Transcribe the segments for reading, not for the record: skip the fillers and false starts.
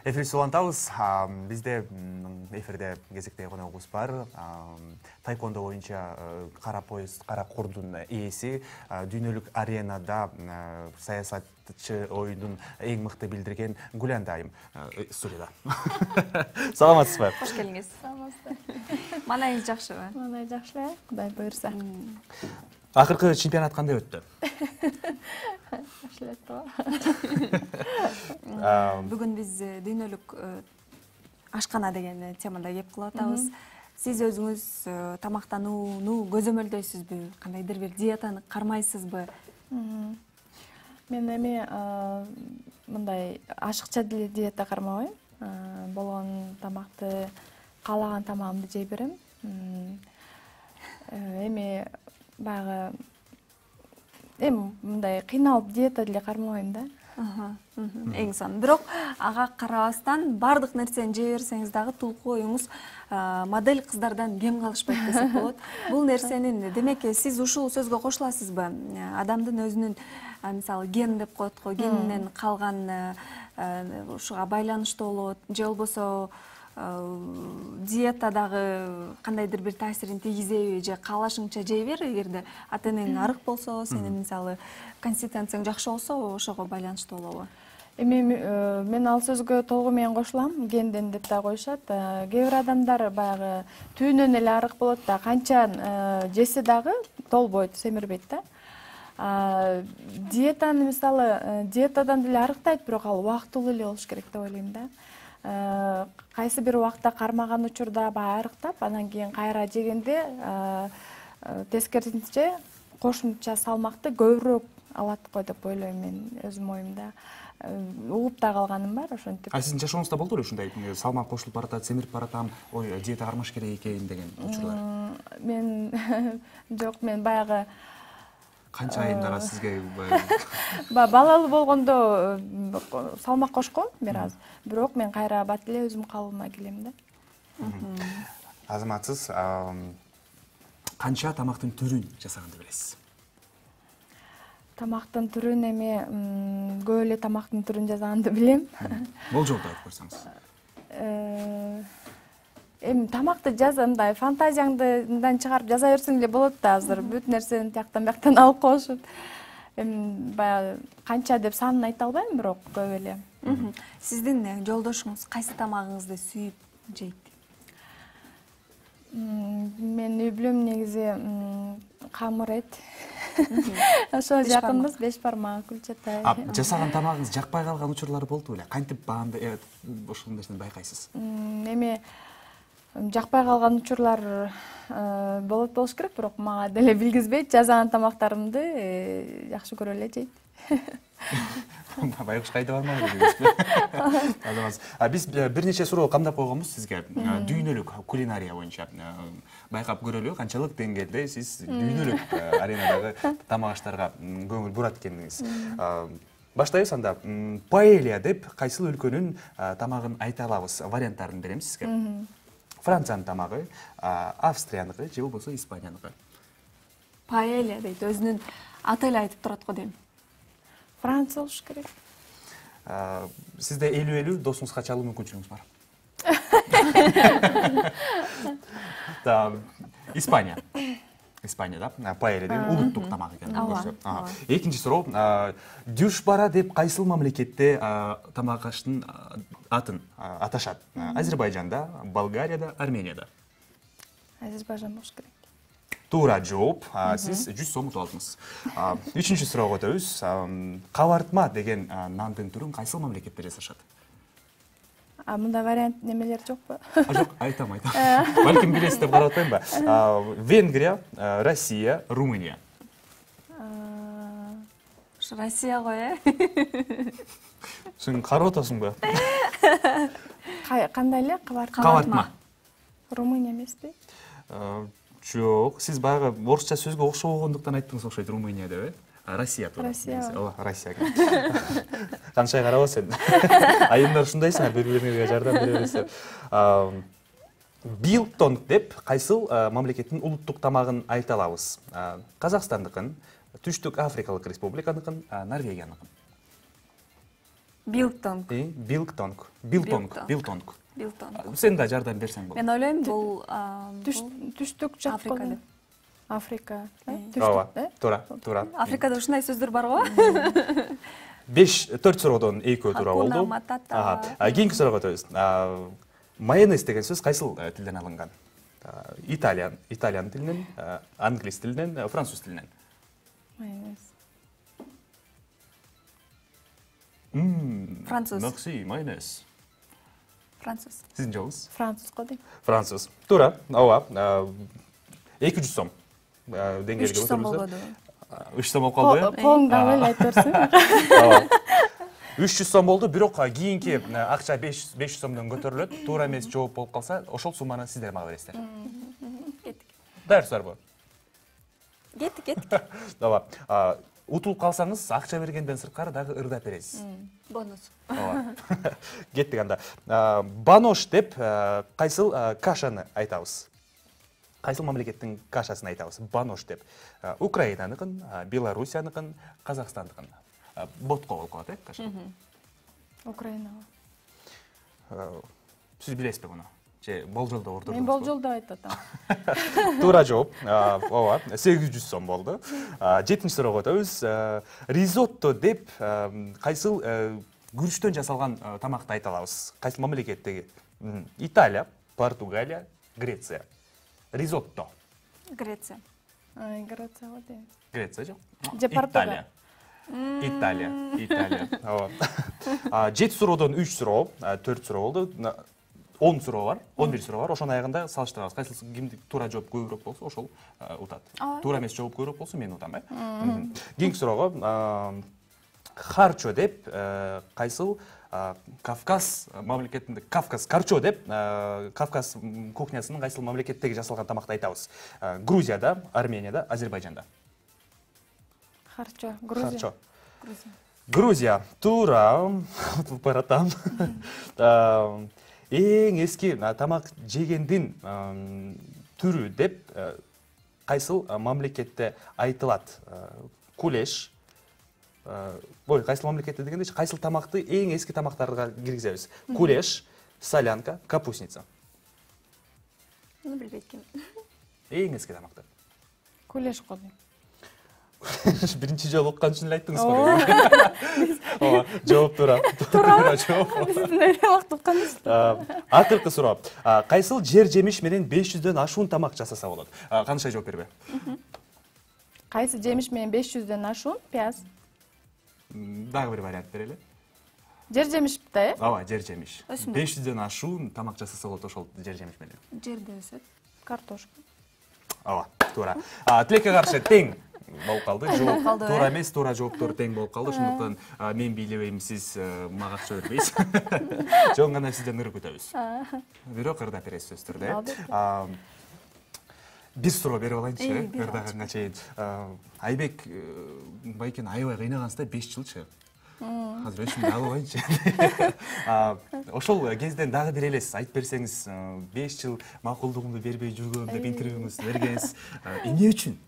Эфирибизди улантабыз. Бизде эфирде кезектеги коногубуз бар. Тайкондо боюнча кара пояс, кара курдун ээси, дүйнөлүк аренада саясатчы оюндун эң мыкты билдирген Гулянда айым студияда. Саламатсызбы? Кош келиңиз. Саламатсыздар. Маанайыңыз жакшыбы? Маанай жакшы, Кудай буйрса. Акыркы чемпионат кандай өттү? Жакшы эле өттү. Бүгүн биз дүйнөлүк ашкана деген темада кеп кылып атабыз. Сиз өзүңүз тамактанууну көзөмөлдөйсүзбү? Кандайдыр бир диетаны кармайсызбы? Мен эми мындай ашыкча диета кармабайм. Болгон тамакты каалаган тамагымды жей берем. Эми баягы мындай кыйналып диета деле кармабайм да. Эң сонун. Бирок ага карабастан бардык нерсени жей берсеңиз дагы тулку оюңуз модель кыздардан кем калышпайт десек болот. Бул нерсенин демек сиз ушул сөзгө кошуласызбы? Адамдын өзүнүн мисалы ген деп коет го, генинен калган ушуга байланыштуу болот, же болбосо диета дагы кандайдыр бир таасирин тийгизеби, же каалашыңча жей бер, эгерде ата-энең арык болсо, сенин мисалы консистенцияң жакшы болсо, ошого байланыштуу болобу? Эми мен ал сөзгө толугу менен кошулам. Генден деп да коюшат. Кээ бир адамдар баягы түйүнөн эле арык болот да, канча жесе дагы толбойт, семирбейт да. Диетаны мисалы диетадан деле арыктайт, бирок ал убактылуу эле болуш керек деп ойлойм да. Кайсы бир убакта кармаган учурда баягы арыктап, анан кийин кайра жегенде тескерисинче кошумча салмакты көбүрөөк алат го деп ойлойм мен өзүмдүн оюмда. Угуп да калганым бар ошентип. Сиздин жашооңузда болду беле ушундай салмак кошулуп баратат, семирип баратам, ой, диета кармаш керек экен деген учурлар? Мен жок, мен баягы Канча айымдара сизге балалуу болгондо салмак кошком бир аз. Бирок мен кайра бат эле өзүм калыбыма келем да. Азаматсыз канча тамактын түрүн жасаганды билесиз? Тамактын түрүн эми көп эле тамактын түрүн жасаганды билем. Болжолду айтып койсоңуз. Эми тамакты мындай фантазияңдан чыгарып жаза берсең эле болот да, азыр бүт нерсени тияктан бияктан алып коюшат. Эми баягы канча деп санын айта албайм, бирок көп эле. Сиздин жолдошуңуз кайсы тамагыңызды сүйүп жейт? Мен үй бүлөм негизи камыр эт. Ошо жакынбыз, 5 бармак, күлчатай. Жасаган тамагыңыз жакпай калган учурлар болду беле? Кантип баамды ошол нерсени байкайсыз? Эми жакпай калган учурлар болуш керек, бирок мага деле билгизбейт. Жасаган тамактарымды жакшы көрө эле жейт. Байкуш кайда бармак дегенсизби? Биз бир нече суроо камдап койгонбуз сизге. Дүйнөлүк кулинария боюнча байкап көрөлү, канчалык деңгээлде сиз дүйнөлүк аренадагы тамак аштарга көңүл бурат экениңиз. Баштайбыз анда. Паэлья деп кайсыл өлкөнүн тамагын айта алабыз? Варианттарын берем сизге. Франциянын тамагы, Австрияныкы же болбосо Испанияныкы? Паэлья дейт, өзүнүн аты эле айтып турат го дейм. Франция болуш керек. Сизде 50-50 досуңузга чалуу мүмкүнчүлүгүңүз бар. Испания. Испания да, паэлья деген улуттук тамак экен. Экинчи суроо. Дюшбара деп кайсыл мамлекетте тамак аштын атын аташат? Азербайжанда, Болгарияда, Арменияда? Азербайжан болуш керек. Туура жооп. Сиз 100 сом утуп алдыңыз. Үчүнчү суроого өтөбүз. Кабартма деген нандын түрүн кайсыл мамлекетте жасашат? Мында вариант немелер жокпу? Жок, айтам. Балким билесиз деп карап атпаймынбы? Венгрия, Россия, Румыния. Россия го, Сен карап атасыңбы? Кандай эле? Кабартма. Румыния эмеспи? Жок, сиз баягы орусча сөзгө окшобогондуктан айттыңыз окшойт, Румыния деп, Россия туура. Россия. Канча карабас сен. Айымдар ушундайсыңар, бири-бириңерге жардам бере бересиздер. Билтонг деп кайсыл мамлекеттин улуттук тамагын айта алабыз? Казакстандыкын, Түштүк Африкалык Республиканыкын, Норвегияныкын? Билтонг. Билтонг. Билтонг. Сен да жардам берсең болот. Мен ойлойм бул түштүк жак Африка деп. Африка. Ооба, туура. Африкада ушундай сөздөр барго? 4 суроодон 2 туура болду. Хакуна матата. Кийинки суроого өтөбүз. Майонез деген сөз кайсыл тилден алынган? Италиан тилинен, англис тилинен, француз тилинен. Майонез. Француз. Merci, майонез. Француз. Сиздин жообуңуз? Француз го дейм. Француз. Туура. Ооба. 200 сом. Деңгээлге 300 сом өтөбүз. болбоду. 3 сом болуп калды. Колуңдагы эле айтып берсең. Ооба. 300 сом болду, бирок кийинки акча 500 сомдон көтөрүлөт. Туура эмес жооп болуп калса, ошол сумманы сиздер мага бересиздер. Кеттик. Даярсыздарбы? Кеттик. Ооба. Утулуп калсаңыз, акча бергенден сырткары дагы ырдап бересиз. Бонус. Ооба. Кеттик анда. Банош деп кайсыл кашаны айтабыз? Кайсыл мамлекеттин кашасын айтабыз? Банош деп. Украинаныкын, Белоруссияныкын, Казакстандыкын. Ботко болуп калат, каша. Украинага. Сиз билесизби муну? Же болжолдо ордурдуңузбу? Мен болжолдо айтып атам. Туура жооп. Ооба, 800 сом болду. 7-нчи суроого өтөбүз. Ризотто деп кайсыл күрүчтөн жасалган тамакты айта алабыз? Кайсыл мамлекеттеги? Италия, Португалия, Греция. Ризотто. Греция. Греция го дейм. Греция жок. Же Португалия. Италия. Ооба. 7 суроодон 3 суроо, 4 суроо болду. 10 суроо бар, 11 суроо бар. Ошонун аягында салыштырабыз. Кайсыл кимди туура жооп көбүрөөк болсо, ошол утат. Туура эмес жооп көбүрөөк болсо, мен утам, Кийинки суроого харчо деп кайсыл Кавказ мамлекетинде карчо деп Кавказ кухнясынын кайсыл мамлекеттеги жасалган тамакты айтабыз? Грузияда, Арменияда, Азербайжанда. Харчо, Грузия. Грузия. Туура. Баратам. Эң эски тамак жегендин түрү деп кайсыл мамлекетте айтылат? Кулеш. Кайсыл мамлекетте дегенде кайсыл тамакты эң эски тамактарга киргизебиз? Кулеш, солянка, капустница. Билбейт экен. Эң эски тамактар. Кулеш го дейм. Биринчи жолу уккан үчүн эле айттыңызбы? Ооба, жооп туура. Туура жооп. Биздин эле убакыт укканбыз. Акыркы суроо. Кайсыл жер жемиш менен 500дөн ашуун тамак жасаса болот? Кандай жооп бербе? Кайсы жемиш менен 500дөн ашуун? Пияз. Дагы бир вариант берели. Жер жемишпи, Ооба, жер жемиш. 500дөн ашуун тамак жасаса болот ошол жер жемиш менен. Жерде өсөт. Картошка. Ооба, туура. Тилекке каршы тең болуп калды. Болуп калды, Туура эмес, туура жооптор тең болуп калды. Ошондуктан мен бийлебейм, сиз мага акча бербейсиз. Жөн гана сизден ыр күтөбүз. Бирок ырдап бересиз сөзсүз түрдө. Бир суроо берип алайынчы, ырдаганга чейин. Айбек байкен аябай кыйнагансызда 5 жылчы. Азыр өчүмдү алып алайынчы. Ошол кезден дагы бир элес айтып берсеңиз, 5 жыл макулдугумду бербей жүргөм деп интервьюңузду бергенсиз. Эмне үчүн?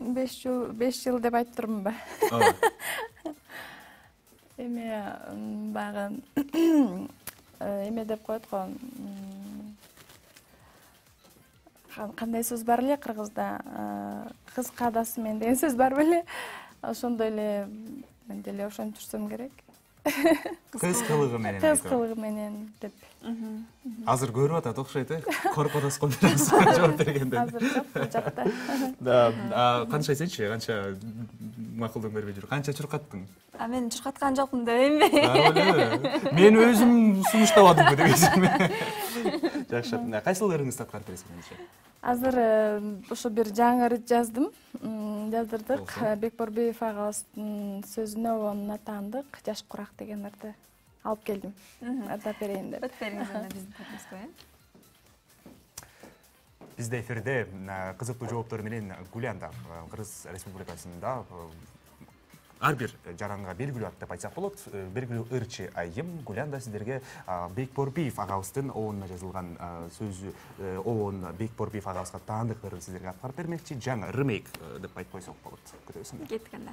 5 жыл деп айтып турмунбу? Эме баягы эме деп коет го. Кандай сөз бар эле кыргызда? Кыз кадасы мен деген сөз бар беле? Ошондой эле мен деле ошентип жүрсөм керек. Кыз кылыгы менен. Кыз кылыгы менен деп. Азыр көрүп атат окшойт, коркотоскон жооп бергенде. Азыр жок, бул жакта. Канча айтсаңчы, канча макулдук бербей жүр. Канча чуркаттың? Мен чуркаткан жокмун дебеймби? Мен өзүм сунуштабадымбы дебейсиңби? Жакшы. Кайсыл ырыңызды аткарып бересиз менимче? Азыр ошо бир жаңы ырд жаздым. Жаздырдык. Бекборбиев агабыздын сөзүнө онуна таандык. Жаш курак деген ырды алып келдим. Ырдап берейин деп. Өтүп бериңиз анда биздин топубузга, Бизде эфирде кызыктуу жооптор менен Гулянда, Кыргыз Республикасында ар бир жаранга белгилүү ат деп айтсак болот. Белгилүү ырчы айым Гулянда сиздерге Бекборбиев агабыздын оонуна жазылган сөзү, оон Бекборбиев агабызга таандык ырын сиздерге аткарып бермекчи. Жаңы ремейк деп айтып койсок болот. Күтөбүз. Кеттик анда.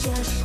жаш